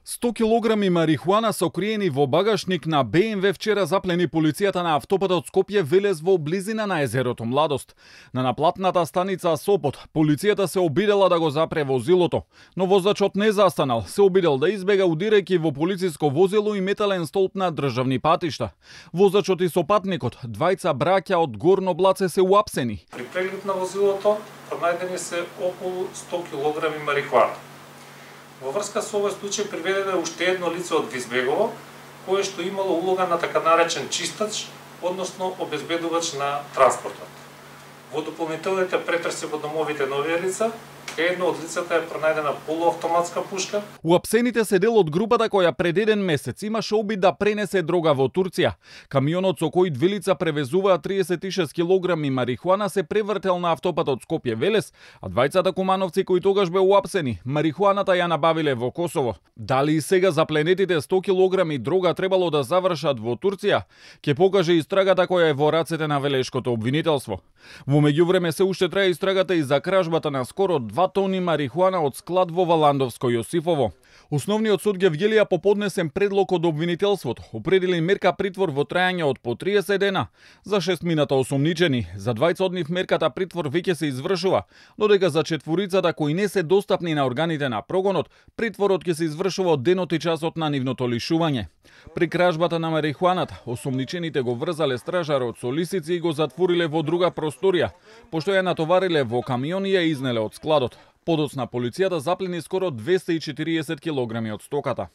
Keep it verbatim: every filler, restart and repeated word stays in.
сто килограми марихуана сокриени во багажник на Б М В вчера заплени полицијата на автопатот Скопје Велес во близина на езерото Младост. На наплатната станица Сопот полицијата се обидела да го запре возилото, но возачот не застанал, се обидел да избега удирајќи во полициско возило и метален столб на државни патишта. Возачот и сопатникот, двајца браќа од Горно Блаце, се уапсени. При преглед на возилото пронајдени се околу сто килограми марихуана. Во врска со овој случај приведено е уште едно лице од Визбегово, кое што имало улога на така наречен чистач, односно обезбедувач на транспортот. Во дополнителните претреси во домовите на овие лица, едно од лицата е пронајдена полуавтоматска пушка. Уапсените се дел од групата која пред еден месец имаше обид да пренесе дрога во Турција. Камионот со кој две лица превезуваат триесет и шест килограми марихуана се превртел на автопатот Скопје Велес, а двајцата кумановци кои тогаш беа уапсени, марихуаната ја набавиле во Косово. Дали и сега запленетите сто килограми дрога требало да завршат во Турција, ќе покаже истрагата која е во рацете на Велешкото обвинителство. Во меѓувреме се уште трае истрагата и за кражбата на скоро два тони марихуана од склад во Валандовско Јосифово. Основниот суд ги вјелија по поднесен предлог од обвинителството, определи мерка притвор во трајање од по триесет дена за шестмината осумничени. За двајца од нив мерката притвор веќе се извршува, додека за четворицата кои не се достапни на органите на прогонот, притворот ќе се извршува од денот и часот на нивното лишување. При кражбата на марихуаната, осумничените го врзале стражарот со лисици и го затвориле во друга просторија, пошто ја натовариле во камион и ја изнеле од складот. Подоцна полицијата заплени скоро двесте и четириесет килограми од стоката.